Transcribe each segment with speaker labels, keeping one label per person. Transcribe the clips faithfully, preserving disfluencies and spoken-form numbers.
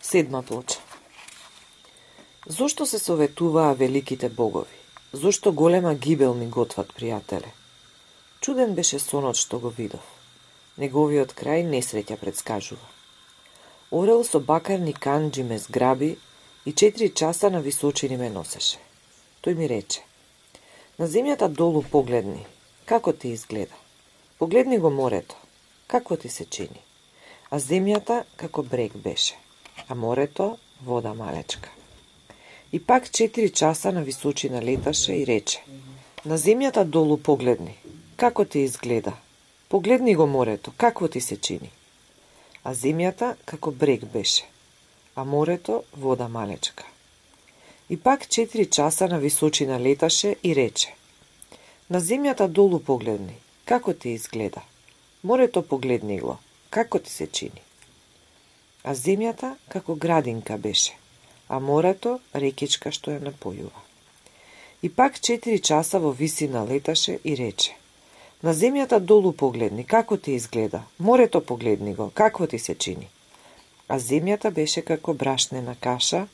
Speaker 1: Седма плоча. Зошто се советуваа великите богови? Зошто голема гибел ми готват, пријателе? Чуден беше сонот што го видов. Неговиот крај несреќа предскажува. Орел со бакарни канџи ме зграби и четири часа на височини ме носеше. Тој ми рече: на земјата долу погледни, како ти изгледа. Погледни го морето, какво ти се чини. А земјата како брег беше, а морето вода малечка. И пак четири часа на височина леташе и рече: на земјата долу погледни, како ти изгледа. Погледни го морето, какво ти се чини. А земјата како брег беше, а морето вода малечка. И пак четири часа на височина леташе и рече: на земјата долу погледни, како ти изгледа. Морето погледни го, како ти се чини. А земјата како градинка беше, а морето рекичка што ја напојува. И пак четири часа во висина леташе и рече: на земјата долу погледни, како ти изгледа. Морето погледни го, какво ти се чини. А земјата беше како брашнена каша,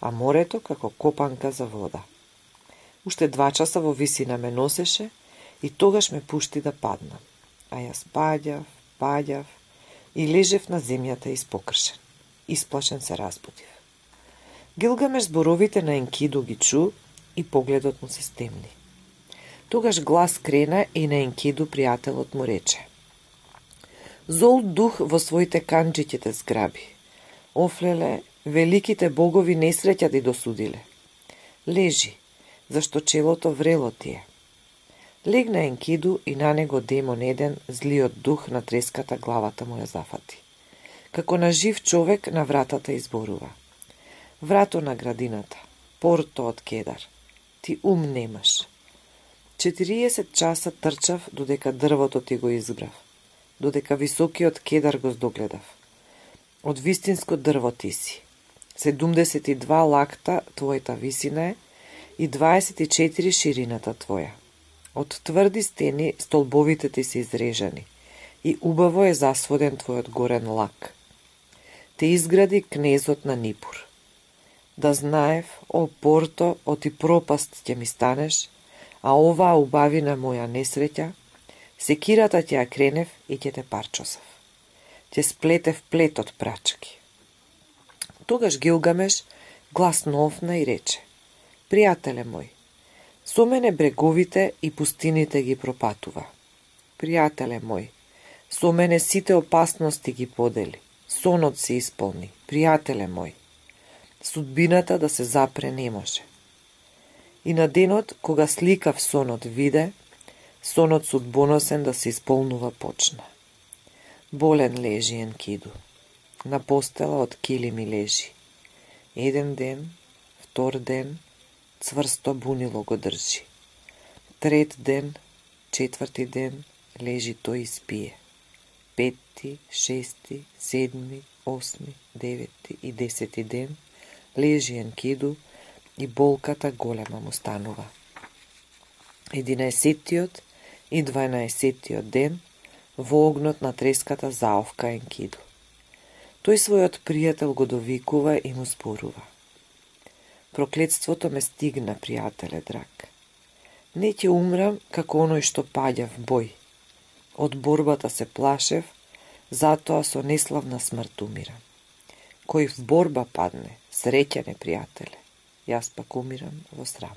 Speaker 1: а морето како копанка за вода. Уште два часа во висина ме носеше и тогаш ме пушти да паднам. А јас паѓав, паѓав и лежев на земјата испокршен. Исплашен се разбудив. Гилгамеш зборовите на Енкиду ги чу и погледот му се стемни. Тогаш глас крена и на Енкиду пријателот му рече: зол дух во своите канџи ќе те зграби. Офлеле, великите богови несреќа ти досудиле. Лежи, зашто челото врело ти е. Легна Енкиду и на него демон еден, злиот дух на треската главата му ја зафати. Како на жив човек на вратата изборува: врато на градината, порто од кедар, ти ум немаш. четириесет часа трчав додека дрвото ти го избрав, додека високиот кедар го здогледав. Од вистинско дрво ти си. седумдесет и два лакта твојата висина е и дваесет и четири ширината твоја. Од тврди стени столбовите ти се изрежани и убаво е засводен твојот горен лак. Те изгради кнезот на Нипур. Да знаев, о порто, оти пропаст ќе ми станеш, а оваа убавина моја несреќа, секирата ќе ја кренев и ќе те парчосав. Ќе сплетев плет од прачки. Тогаш Гилгамеш гласно офна и рече: пријателе мој, со мене бреговите и пустините ги пропатува. Пријателе мој, со мене сите опасности ги подели, сонот се исполни. Пријателе мој, судбината да се запре не може. И на денот, кога сликав сонот виде, сонот судбоносен да се исполнува почна. Болен лежи Енкиду, на постела од килими лежи. Еден ден, втор ден, цврсто бунило го држи. Трет ден, четврти ден, лежи тој и спие. Петти, шести, седми, осми, деветти и десети ден, лежи Енкиду и болката голема му станува. Единаесеттиот и дванаесеттиот ден, во огнот на треската заовка Енкиду. Тој својот пријател го довикува и му спорува: проклетството ме стигна, пријателе драг. Не ќе умрам како оној што паѓа в бој. Од борбата се плашев, затоа со неславна смрт умирам. Кој в борба падне, среќен е, пријателе. Јас пак умирам во срам.